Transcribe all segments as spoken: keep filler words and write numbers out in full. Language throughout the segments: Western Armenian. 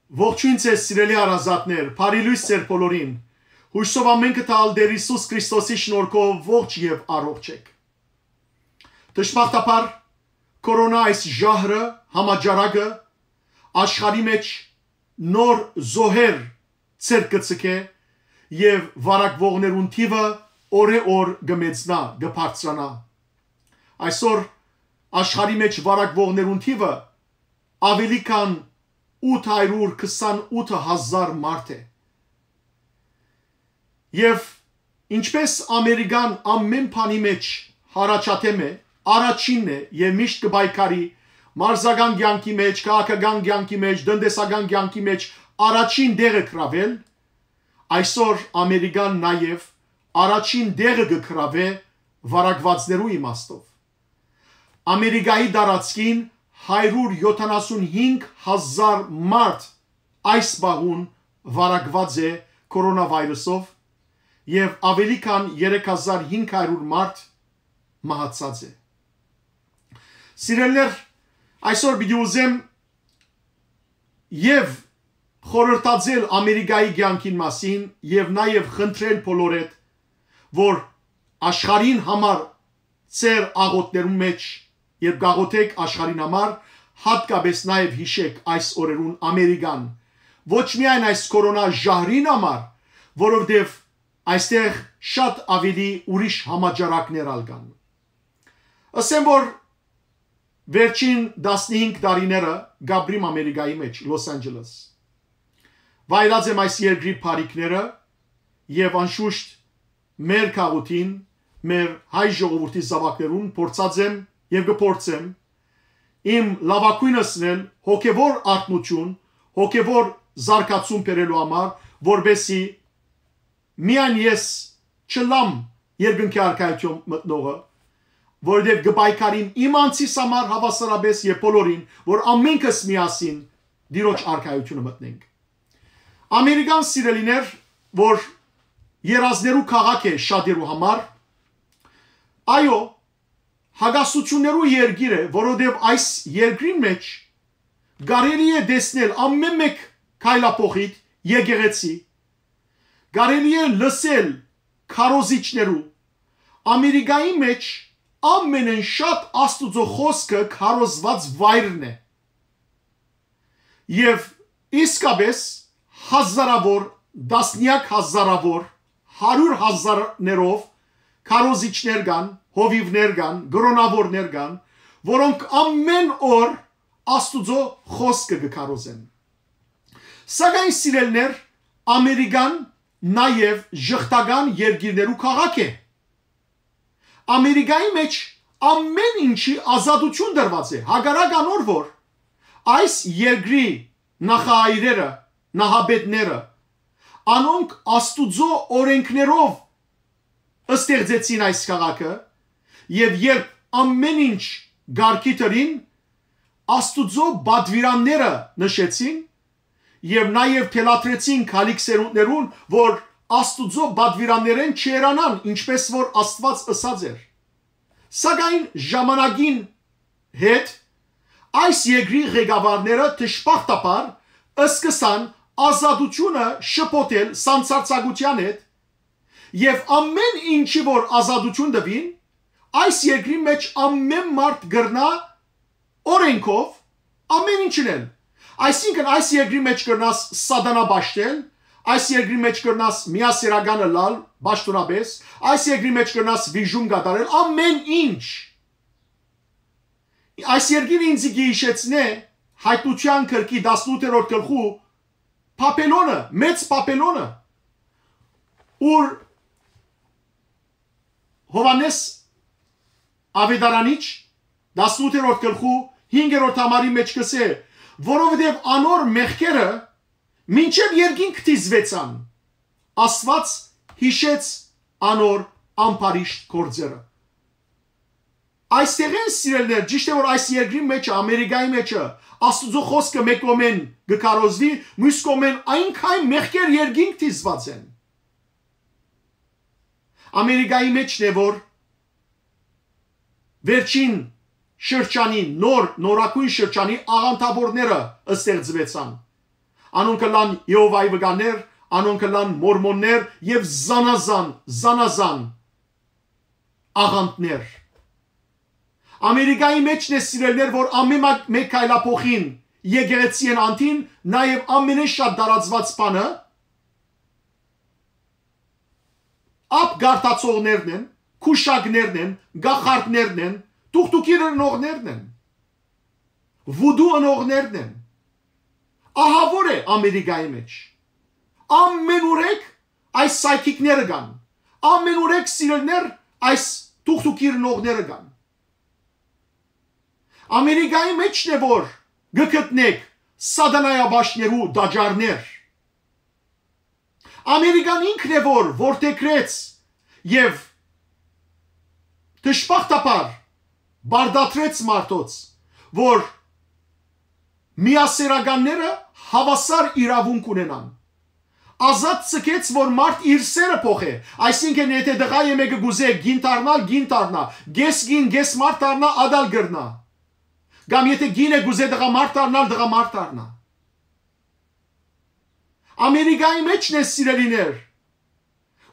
Ողջոյն ձեզ, սիրելի հարազատներ, բարի լոյս ձեր բոլորին։ Յուսով ամէնքը տալ Տեր Յիսուս Քրիստոսի շնորհքով ողջ եւ առողջ եք։ Դժբախտաբար, կորոնա այս ժահրը, համաճարակը, աշխարհի մէջ նոր զոհեր ձեռք կը ձգէ եւ վարակվողներուն թիւը օրէ օր կը մեծնայ, կը բարձրանայ։ Այսօր աշխարհի մէջ վարակվողներուն թիւը աւելի քան ութ հարիւր քսանութ հազար մարդ է։ Եւ ինչպէս Ամերիկան ամէն բանի մէջ յառաջադէմ է, առաջինն է եւ միշտ կը պայքարի մարզական կեանքի մէջ, քաղաքական կեանքի մէջ, տնտեսական կեանքի մէջ առաջին տեղը գրաւել, այսօր Ամերիկան նաեւ առաջին տեղը կը գրաւէ վարակուածներու իմաստով։ Ամերիկայի տարածքին հարիւր յոթանասուն հինգ հազար մարդ այս պահուն վարակուած է կորոնավիրուսով եւ աւելի քան երեք հազար հինգ հարիւր մարդ մահացած է։ Սիրելիներ, այսօր պիտի ուզեմ եւ խորհրդածել Ամերիկայի կեանքին մասին եւ նաեւ խնդրել բոլորեդ, որ աշխարհին համար ձեր աղօթքներուն մէջ, երբ կաղօթէք աշխարհին համար, յատկապէս նաեւ յիշէք այս օրերուն Ամերիկան, ոչ միայն այս կորոնա ժահրին համար, որովհետեւ այստեղ շատ աւելի ուրիշ համաճարակներ ալ կան։ Ըսեմ, որ վերջին տասնհինգ տարիները կ'ապրիմ Ամերիկայի մէջ, Լոս Անջելես։ Վայելած եմ այս երկրի բարիքները եւ անշուշտ մեր քաղաքին, մեր հայ ժողովուրդի զաւակներուն փորձած եմ եւ կը փորձեմ իմ լաւագոյնս նել հոգեվոր արթնություն, հոգեվոր զարգացում բերելու համար, որպեսզի միայն ես չըլլամ երկնքի արքայութիւն մտնողը, որովհետեւ կը պայքարիմ իմ անձիս համար, հաւասարապէս եւ բոլորին, որ ամենքս միասին Տիրոջ արքայութիւնը մտնենք։ Ամերիկան, սիրելիներ, որ երազներու քաղաք է շատերու համար, այո, հակասություններու երկիր է, որովհետեւ այս երկրին մէջ կարելի է տեսնել ամէն մէկ քայլափոխիդ, եկեղեցի, կարելի է լսել քարոզիչներու։ Ամերիկայի մէջ ամենէն շատ Աստուծոյ խօսքը քարոզուած վայրն է։ Եւ իսկապէս հազարաւոր, տասնեակ հազարաւոր, հարիւր հազարներով քարոզիչներ կան, հովիւներ կան, կրօնաւորներ կան, որոնք ամէն օր Աստուծոյ խօսքը կը քարոզեն։ Սակայն, սիրելիներ, Ամերիկան նաեւ ժխտական երկիրներու քաղաք է։ Ամերիկայի մէջ ամէն ինչի ազատութիւն տրուած է, հակառակ անոր որ այս երկրի նախահայրերը, նահապետները, անոնք Աստուծոյ օրէնքներով ստեղծեցին այս քաղաքը, եւ երբ ամէն ինչ կարգի դրին, Աստուծոյ պատուիրանները նշեցին, եւ նաեւ թելադրեցին գալիք սերունդներուն, որ Աստուծոյ պատուիրաններէն չհեռանան, ինչպէս որ Աստուած ըսած էր։ Սակայն ժամանակին հետ այս երկրի ղեկավարները դժբախտաբար սկսան ազատութիւնը շփոթել սանձարձակութեան հետ, եւ ամէն ինչի որ ազատութիւն տուին, այս երկրի մէջ ամէն մարդ կրնայ օրէնքով ամէն ինչ ընել։ Այսինքն այս երկրի մէջ կրնաս սատանա պաշտել, այս երկրի մէջ կրնաս միասերական ըլլալ պաշտօնապէս, այս երկրի մէջ կրնաս վիժում կատարել, ամէն ինչ։ Այս երկիրը ինձ կը յիշեցնէ Հայտնութեան գրքի տասնութերորդ գլխու Բաբելոնը, մեծ Բաբելոնը, ուր Յովհաննէս Աւետարանիչ, տասնութերորդ գլխու հինգերորդ համարի մէջ կ'ըսէ, որովհետեւ անոր մեղքերը մինչեւ երկինք դիզուեցան, Աստուած յիշեց անոր ամբարիշտ գործերը։ Այստեղէն, սիրելիներ, ճիշդ է որ այս երկրի մէջը, Ամերիկայի մէջը, Աստուծոյ խօսքը մէկ կողմէն կը քարոզուի, միւս կողմէն այնքան մեղքեր երկինք դիզուած են։ Ամերիկայի մէջն է որ վերջին շրջանի, նոր, նորագոյն շրջանի աղանդաւորները ստեղծուեցան։ Անոնք կ'ըլլան Եհովայի վկաներ, անոնք կ'ըլլան մորմոններ եւ զանազան, զանազան աղանդներ։ Ամերիկայի մէջն է, սիրելիներ, որ ամէն մա-, մէկ քայլափոխին եկեղեցի են անդին, նաեւ ամենէն շատ տարածուած բանը ափ գարթացողներն են, քուշակներն են, գախարդներն են, թուղթուկիր ընողներն են, վուդու ընողներն են։ Ահա որ է Ամերիկայի մէջ։ Ամեն ուրեք այս psychic-ները կան։ Ամեն ուրեք, սիրելիներ, այս թուղթուկիր ընողները կան։ Ամերիկայի մէջն է, որ կը գտնեք սատանայապաշտներու տաճարներ։ Ամերիկան ինքն է, որ որդեգրեց եւ դժբախտաբար բարդատրեց մարդոց, որ միասեռականները հաւասար իրաւունք ունենան։ Ազատ ցկեց, որ մարդ իր սերը փոխէ, այսինքն, եթե տղայ մէկը կ'ուզէ կին դառնալ, կին դառնայ, կէս կին, կէս մարդ դառնայ, ատալ կրնայ։ Կամ եթե կին է կ'ուզէ տղամարդ դառնալ, տղամարդ դառնայ։ Ամերիկայի մէջն է, սիրելիներ,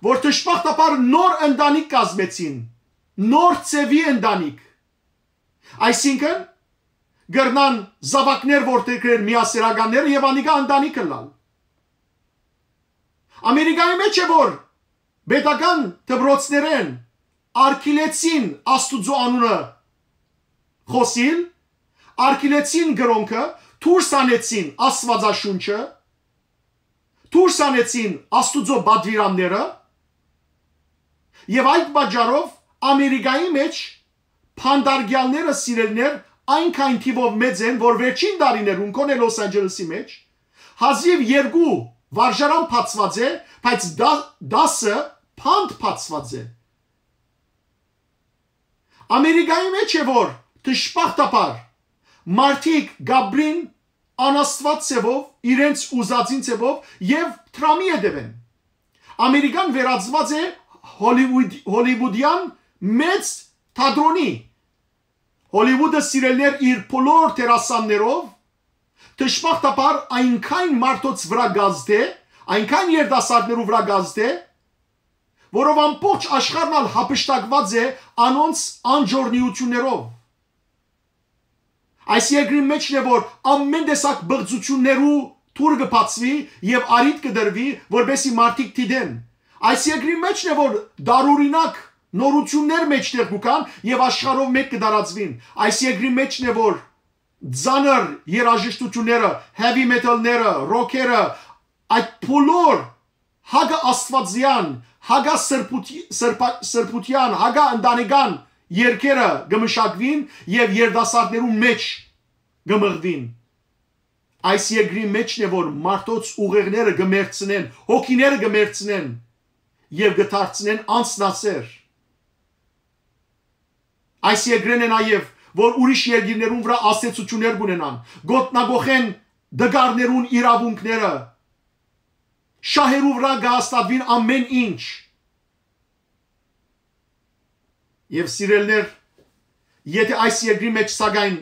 որ դժբախտաբար նոր ընտանիք կազմեցին, նոր ձեւի ընտանիք։ Այսինքն, կրնան զաւակներ որդեգրել միասեռականները եւ անիկա ընտանիք ըլլալ։ Ամերիկայի մէջ է, որ պետական դպրոցներէն արգիլեցին Աստուծոյ անունը խօսիլ, արգիլեցին կրօնքը, դուրս հանեցին Աստուածաշունչը, դուրս հանեցին Աստուծոյ պատուիրանները, եւ այդ պատճառով Ամերիկայի մէջ փանտարկեալները, սիրելիներ, այնքան թիւով մեծ են, որ վերջին տարիներուն, գոնե Լոս Անջելեսի մէջ, հազիւ երկու վարժարան բացուած է, բայց դա-, տասը փանդ բացուած է։ Ամերիկայի մէջ է, որ դժբախտաբար մարդիկ կ'ապրին անաստուած ձեւով, իրենց ուզածին ձեւով եւ դրամի հետեւեն։ Ամերիկան վերածուած է Հոլիվուդ-, հոլիվուդեան մեծ թատրոնի։ Հոլիվուդը, սիրելիներ, իր բոլոր դերասաններով դժբախտաբար այնքան մարդոց վրայ կ'ազդէ, այնքան երիտասարդներու վրայ կ'ազդէ, որով ամբողջ աշխարհն ալ յափշտակուած է անոնց անճոռնիութիւններով։ Այս երկրին մէջն է, որ ամեն տեսակ բղծութիւններու դուռ կը բացուի եւ առիթ կը տրուի, որպէսզի մարդիկ դիտեն։ Այս երկրին մէջն է, որ տարօրինակ նորութիւններ մէջտեղ կու գան եւ աշխարհով մէկ կը տարածուին։ Այս երկրին մէջն է, որ ծանր երաժշտութիւնները, heavy metal-ները, ռոքերը, այդ բոլոր հակա աստվածեան, հակա սրբութի-, սրբա-, սրբութեան, հակա ընտանեկան երգերը կը մշակուին եւ երիտասարդներու մէջ կը մղուին։ Այս երկրի մէջն է, որ մարդոց ուղեղները կը մեռցնեն, հոգիները կը մեռցնեն եւ կը դարձնեն անձնասեր։ Այս երկրէն է նաեւ, որ ուրիշ երկիրներուն վրայ ազդեցութիւններ կ'ունենան, գոտնագոխեն տկարներուն իրաւունքները, շահերու վրայ կը հաստատուին ամեն ինչ։ Եւ, սիրելիներ, եթե այս երկրի մէջ, սակայն,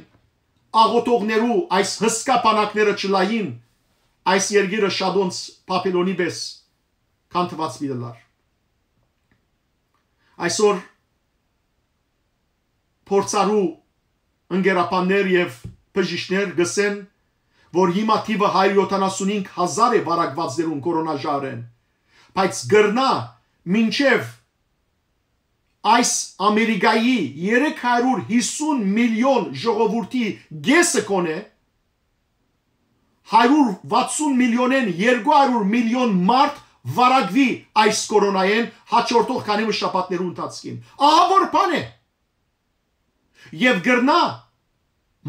աղօթողներու այս հսկայ բանակները չլային, այս երկիրը շատոնց Բաբիլոնի պէս քանդուած պիտի ըլլար։ Այսօր փորձառու ընկերաբաններ եւ բժիշկներ կ'ըսեն, որ հիմա թիվը հարիւր յոթանասունհինգ հազար է վարակուածներուն կորոնա ժահրէն, բայց կրնայ մինչեւ այս Ամերիկայի երեք հարիւր յիսուն միլիոն ժողովուրդի կէսը գոնե, հարիւր վաթսուն միլիոնէն երկու հարիւր միլիոն մարդ վարակուի այս կորոնայէն հաջորդող քանի մը շաբաթներու ընթացքին։ Ահա որ բան է։ Եւ կրնայ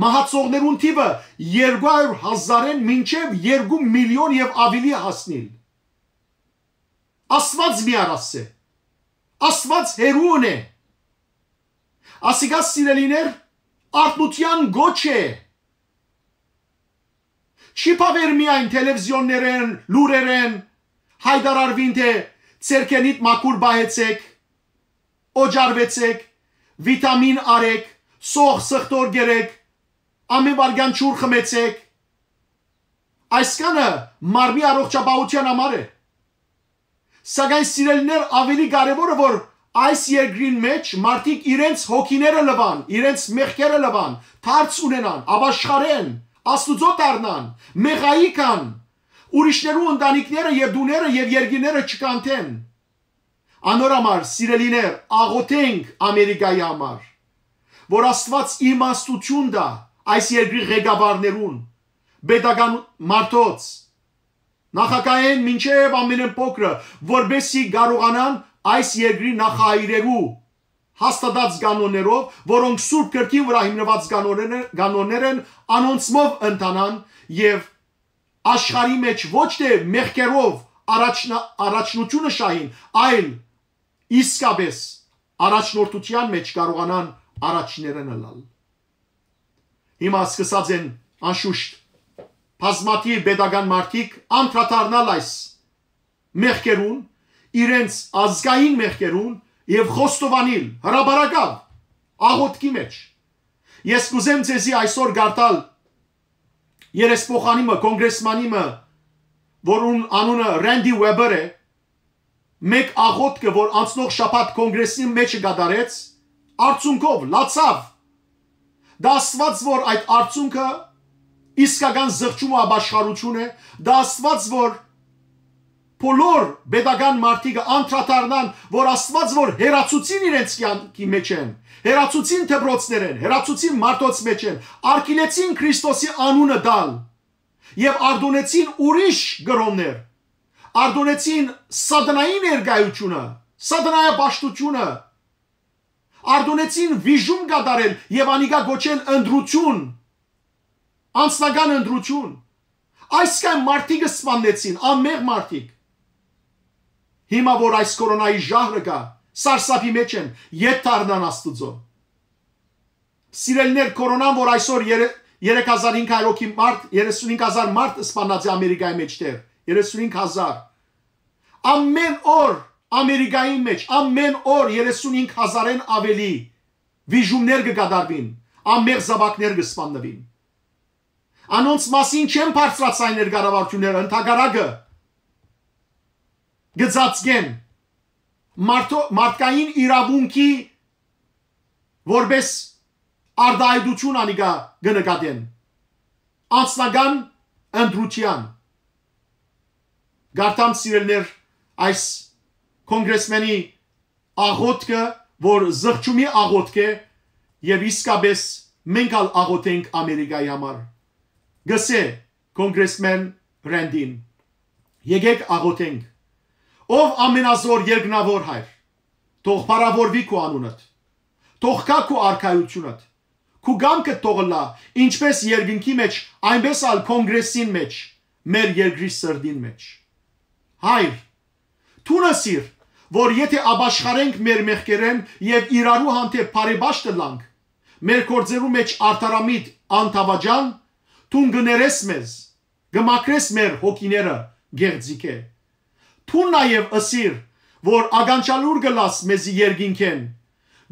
մահացողներուն թիվը երկու հարիւր հազարէն մինչեւ երկու միլիոն եւ աւելի հասնիլ։ Աստուած միարաս է։ Աստուած հեռուն է։ Ասիկա, սիրելիներ, արթնութեան գոչ է։ Չի բաւեր միայն թելեվիզիոններէն, լուրերէն հայտարարուին, թէ ձերքերնիդ մաքուր պահեցէք, օճառուեցէք, վիտամին առէք, սոխ սխտոր կերէք, ամեն վայրկեան ջուր խմեցէք, Այսքանը մարմնի առողջապահութեան համար է։ Սակայն, սիրելիներ, աւելի կարեւորը, որ այս երկրին մէջ մարդիկ իրենց հոգիները լուան, իրենց մեղքերը լուան, դարձ ունենան, ապաշխարեն, Աստուծոյ դառնան, մեղայի գան, ուրիշներու ընտանիքները եւ տուները եւ երկիրները չկանթեն։ Անոր համար, սիրելիներ, աղօթենք Ամերիկայի համար, որ Աստուած իմաստութիւն տայ այս երկրի ղեկավարներուն, պետական մարդոց, նախագահէն մինչեւ ամենէն փոքրը, որպէս զի կարողանան այս երկրի նախահայրերու հաստատած կանոններով, որոնք Սուրբ Գրքին վրայ հիմնուած կանոններ, կանոններ են, անոնցմով ընթանան եւ աշխարհի մէջ ոչ թէ մեղքերով առաջնա-, առաջնութիւնը շահին, այլ իսկապէս առաջնորդութեան մէջ կարողանան առաջիներէն ըլլալ։ Հիմա սկսած են, անշուշտ, բազմաթիւ պետական մարդիկ անդրադառնալ այս մեղքերուն, իրենց ազգային մեղքերուն եւ խոստովանիլ հրապարակաւ, աղօթքի մէջ։ Ես կուզեմ ձեզի այսօր կարդալ երեսփոխանի մը, կոնգրեսմանի մը, որուն անունը Ռենդի Ուեբեր է, մէկ աղօթքը, որ անցնող շաբաթ կոնգրեսի մէջը կատարեց, արդյունքով լացաւ։ Դա Աստուած, որ այդ արդյունքը իսկական զղջում ու ապաշխարութիւն է, դա Աստուած, որ բոլոր պետական մարդիկը անդրադառնան, որ Աստուած, որ հեռացուցին իրենց կեանքի մէջէն, հեռացուցին դպրոցներէն, հեռացուցին մարդոց մէջէն, արգիլեցին Քրիստոսի անունը տալ եւ արտոնեցին ուրիշ կրօններ, արտոնեցին սատանային ներկայությունը, սատանայապաշտությունը, արտոնեցին վիժում կատարել եւ անիկա կոչել ընտրութիւն, անձնական ընտրութիւն։ Այսքան մարդիկ սպաննեցին, անմեղ մարդիկ։ Հիմա որ այս կորոնայի ժահրը կայ, սարսափի մէջ են, ետ դառնան Աստուծոյ։ Սիրելիներ, կորոնան, որ այսօր երե-, երեք հազար հինգ հարյուր հոգի մարդ, երեսունհինգ հազար մարդ սպանած է Ամերիկայի մէջտեղ, երեսունհինգ հազար։ Ամեն օր Ամերիկայի մէջ, ամեն օր երեսունհինգ հազարէն աւելի վիժումներ կը կատարուին, անմեղ զաւակներ կը սպաննուին։ Անոնց մասին չեն բարձրացայ ներկառավարութիւնները, ընդհակառակը, կը ծածկեն մարդո-, մարդկային իրաւունքի որպէս արտայայտութիւն անիկա կը նկատեն անձնական ընտրութեան։ Գարտամ, սիրելիներ, այս կոնգրեսմենի աղոթքը, որ զղջումի աղոթք է, եւ իսկապէս մենք ալ աղոթենք Ամերիկայի համար, գսէ կոնգրեսմեն Ռենդին։ Եկեք աղոթենք։ Ով ամենազոր երկնաւոր Հայր, թող փառաւորուի քու անունդ, թող գայ քու արքայութիւնդ, քու կամքդ թող ըլլայ, ինչպէս երկնքի մէջ, այնպէս ալ կոնգրեսին մէջ, մեր երկրի սրտին մէջ։ Հայր, դուն ըսիր, որ եթէ ապաշխարենք մեր մեղքերէն եւ իրարու հանդէպ բարեպաշտ ըլլանք, մեր գործերու մէջ արդարամիտ անթաւաճան, դուն կը ներես մեզ, կը մաքրես մեր հոգիները գեղձիգէ։ Դուն նաեւ ըսիր, որ ականջալուր կ'ըլլաս մեզի երկինքէն,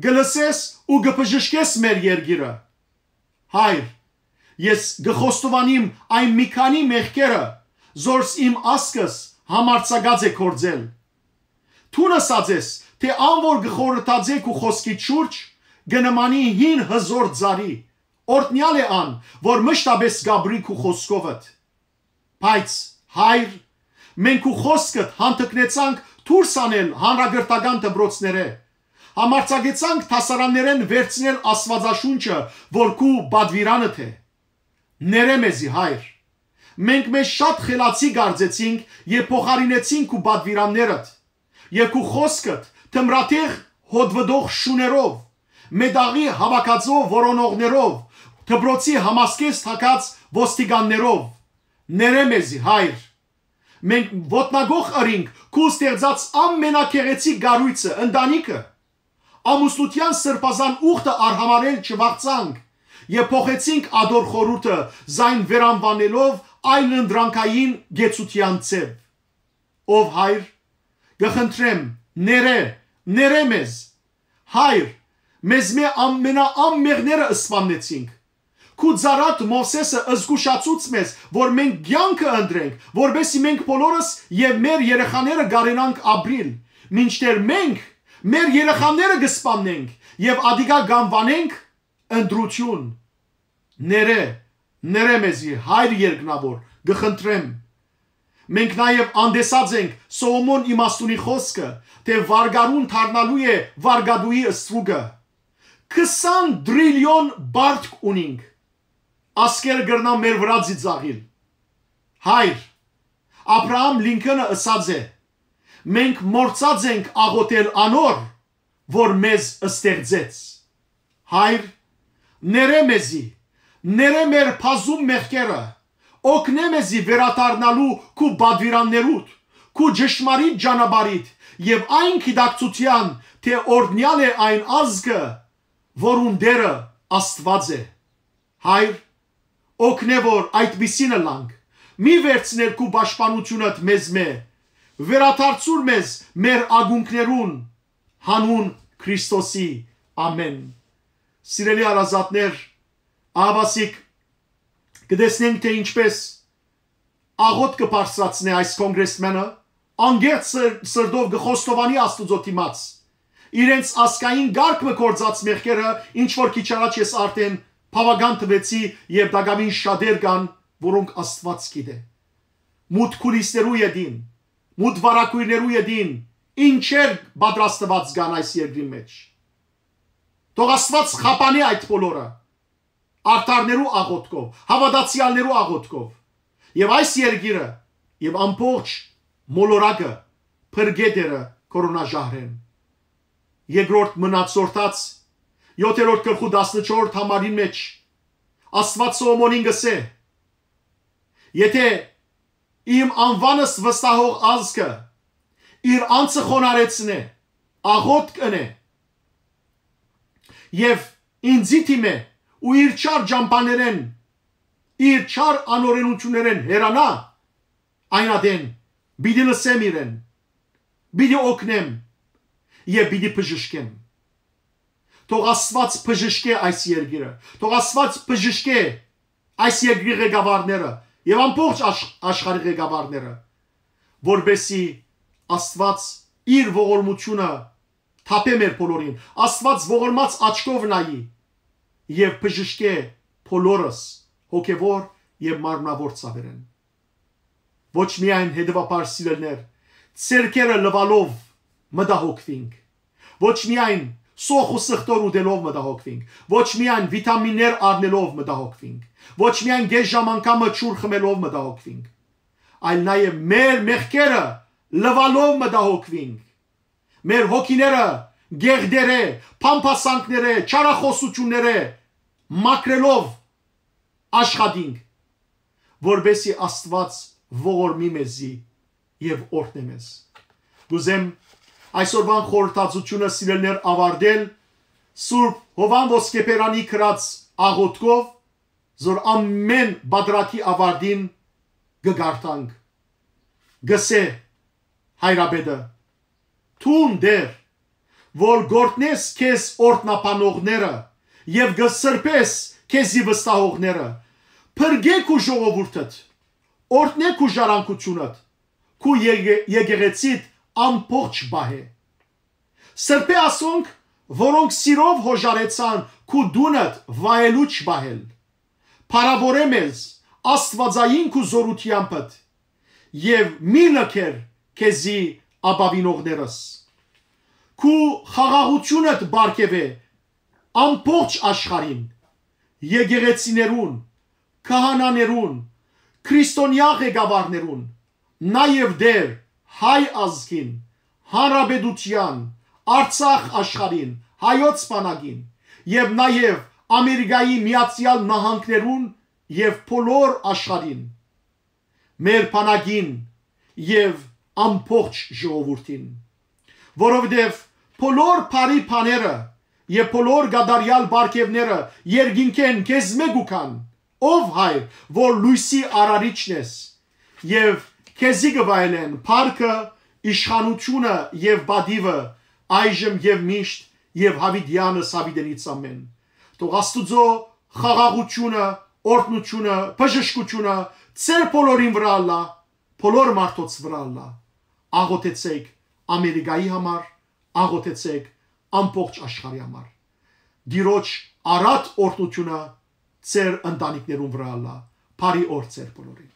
կը լսես ու կը բժշկես մեր երկիրը։ Հայր, ես կը խոստովանիմ այն մի քանի մեղքերը, զորս իմ ազգս համարձակած է գործել։ Դուն ըսած ես, թէ ան որ կը խորհրդածէ քու խօսքիդ շուրջ, կը նմանի հին հզոր ծառի, օրհնեալ է ան, որ մշտապէս կ'ապրի քու խօսքովդ։ Բայց, Հայր, մենք քու խօսքդ հանդգնեցանք դուրս անել հանրակրթական դպրոցներէ, համարձակեցանք դասարաններէն վերցնել Աստուածաշունչը, որ քու պատուիրանդ է։ Ներէ մեզի, Հայր։ Մենք մեզ շատ խելացի կարծեցինք եւ փոխարինեցինք քու պատուիրաններդ եւ քու խօսքդ թմրատեղ հոտվտող շուներով, մետաղի հաւաքածոյ որոնողներով, դպրոցի համասկէս թակած ոստիկաններով։ Ներէ մեզի, Հայր։ Մենք ոտնակոխ ըրինք քու ստեղծած ամենագեղեցիկ կառոյցը, ընտանիքը։ Ամուսնութեան սրբազան ուխտը արհամարհել չվաղցանք եւ փոխեցինք ատոր խորհուրդը, զայն վերանուանելով այլընտրանքային կեցութեան ձեւ։ Ով Հայր, կը խնդրեմ, ներէ, ներէ մեզ։ Հայր, մեզմէ ամենաանմեղները սպաննեցինք։ Քու ծառադ Մովսէսը զգուշացուց մեզ, որ մենք կեանքը ընտրենք, որպեսզի մենք բոլորս եւ մեր երեխաները կարենանք ապրիլ, մինչդեռ մենք մեր երեխաները կը սպաննենք եւ ատիկա կ'անուանենք ընտրություն։ Ներէ, ներէ մեզի, Հայր երկնաւոր, կը խնդրեմ։ Մենք նաեւ անտեսած ենք Սողոմոն իմաստունի խօսքը, թէ վարգարուն դառնալու է վարգատուի ստրուկը։ Քսան տրիլիոն բարդք ունինք։ Ասկերը կրնան մեր վրայ ծիծաղիլ։ Հայր, Աբրահամ Լինքոնը ըսած է. «Մենք մոռցած ենք աղոթել անոր, որ մեզ ստեղծեց»։ Հայր, ներէ մեզի, ներէ մեր բազում մեղքերը, օգնէ մեզի վերադառնալու քու պատուիրաններուդ, քու ճշմարիտ ճանապարհիդ եւ այն գիտակցութեան, թէ օրհնեալ է այն ազգը, որուն Տէրը Աստուած է։ Հայր, օգնէ որ այդպիսին ըլլանք, մի վերցներ քու պաշտպանութիւնդ մեզմէ, վերադարձուր մեզ մեր ակունքներուն, հանուն Քրիստոսի, ամէն։ Սիրելի հարազատներ, ահաւասիկ կը տեսնենք, թէ ինչպէս աղոթքը բարձրացնէ այս կոնգրեսմենը, անկեղծ սր-, սրտով կը խոստովանի Աստուծոյ դիմաց իրենց ազգային կարգ մը գործած մեղքերը, ինչ որ քիչ առաջ ես արդէն բաւական տուեցի, եւ տակաւին շատեր կան, որոնք Աստուած գիտէ։ Մութ քուլիսներու ետին, մութ վարագոյրներու ետին ինչեր պատրաստուած կան այս երկրի մէջ։ Թող Աստուած խափանէ այդ բոլորը, արդարներու աղոթքով, հաւատացեալներու աղոթքով, եւ այս երկիրը եւ ամբողջ մոլորակը փրկէ Տէրը կորոնաժահրէն։ Երկրորդ Մնացորդաց, յոթերորդ գլխու տասնչորսերորդ համարին մէջ, Աստուած Սողոմոնին կ'ըսէ. «Եթէ իմ անուանս վստահող ազգը իր անձը խոնարհեցնէ, աղոթք ընէ եւ ինծի դիմէ ու իր չար ճամբաներէն, իր չար անօրենութիւններէն հեռանայ, այն ատեն պիտի լսեմ իրեն, պիտի օգնեմ եւ պիտի բժշկեմ»։ Թող Աստուած բժշկէ այս երկիրը, թող Աստուած բժշկէ այս երկրի ղեկավարները եւ ամբողջ աշխ-, աշխարհի ղեկավարները, որպեսզի Աստուած իր ողորմութիւնը թափէ մեր բոլորին, Աստուած ողորմած աչքով նայի եւ բժշկէ բոլորս հոգեւոր եւ մարմնաւոր ցաւերէն։ Ոչ միայն, հետեւաբար, սիրելիներ, ձեռքերը լուալով մտահոգուինք, ոչ միայն սոխ ու սխտոր ուտելով մտահոգուինք, ոչ միայն վիտամիններ առնելով մտահոգուինք, ոչ միայն կէս ժամ անգամը ջուր խմելով մտահոգուինք, այլ նաեւ մեր մեղքերը լուալով մտահոգուինք, մեր հոգիները գեղդերէ, փամփասանքներէ, չարախօսութիւններէ մաքրելով աշխատինք, որպեսզի Աստուած ողորմի մեզի եւ օրհնէ մեզ։ Կ'ուզեմ այսօրվան խորհրդածությունը, սիրելիներ, աւարտել Սուրբ Յովհան Ոսկեբերանի գրած աղոթքով, որ ամէն պատրակի աւարտին կը կարդանք։ Կ'ըսէ հայրապետը. «Դուն, Տէր, որ կ'օրհնես քեզ օրհնաբանողները եւ կը սրբես քեզի վստահողները, փրկէ քու ժողովուրդդ, օրհնէ քու ժառանգութիւնդ, քու եկե-, եկեղեցիդ ամբողջ պահէ։ Սրբէ ասոնք, որոնք սիրով յօժարեցան քու տունդ վայելուչ պահել։ Փառաւորէ մեզ աստուածային քու զօրութեամբդ եւ մի լքեր քեզի ապաւինողներս։ Քու խաղաղութիւնդ պարգեւէ ամբողջ աշխարհին, եկեղեցիներուն, քահանաներուն, քրիստոնեայ ղեկավարներուն, նաեւ Տէր, հայ ազգին, հանրապետութեան, Արցախ աշխարհին, հայոց բանակին եւ նաեւ Ամերիկայի Միացեալ Նահանգներուն եւ բոլոր աշխարհին, մեր բանակին եւ ամբողջ ժողովուրդին, որովհետեւ բոլոր բարի բաները եւ բոլոր կատարեալ պարգեւները երկինքէն քեզմէ կու գան, ով Հայր, որ լոյսի արարիչն ես, եւ քեզի կը վայելեն փառքը, իշխանութիւնը եւ պատիւը, այժմ եւ միշտ, եւ յաւիտեանս յաւիտենից ամէն։ Թող Աստուծոյ խաղաղութիւնը, օրհնութիւնը, բժշկութիւնը ձեր բոլորին վրայ ըլլայ, բոլոր մարդոց վրայ ըլլայ։ Աղօթեցէք Ամերիկայի համար, աղօթեցէք ամբողջ աշխարհի համար։ Տիրոջ առատ օրհնութիւնը ձեր ընտանիքներուն վրայ ըլլայ։ Բարի օր ձեր բոլորին։